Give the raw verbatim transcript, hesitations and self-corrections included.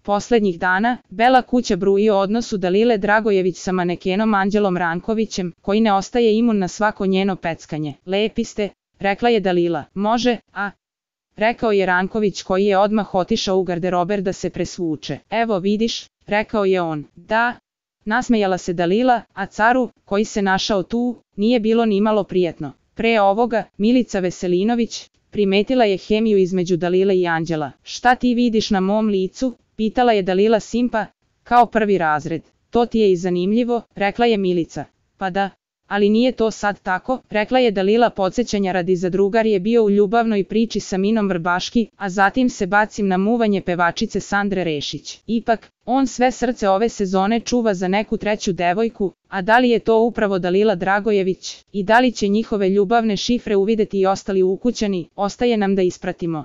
Poslednjih dana, Bela kuća bruji o odnosu Dalile Dragojević sa manekenom Anđelom Rankovićem, koji ne ostaje imun na svako njeno peckanje. Lepi ste, rekla je Dalila. Može, a? Rekao je Ranković koji je odmah otišao u garderober da se presvuče. Evo vidiš, rekao je on. Da, nasmejala se Dalila, a caru, koji se našao tu, nije bilo ni malo prijetno. Pre ovoga, Milica Veselinović primetila je hemiju između Dalile i Anđela. Šta ti vidiš na mom licu? Pitala je Dalila Simpa, kao prvi razred. To ti je i zanimljivo, rekla je Milica. Pa da, ali nije to sad tako, rekla je Dalila podsjećanja radi za drugar je bio u ljubavnoj priči sa Minom Vrbaški, a zatim se bacim na muvanje pevačice Sandre Rešić. Ipak, on sve srce ove sezone čuva za neku treću devojku, a da li je to upravo Dalila Dragojević i da li će njihove ljubavne šifre uvideti i ostali ukućani, ostaje nam da ispratimo.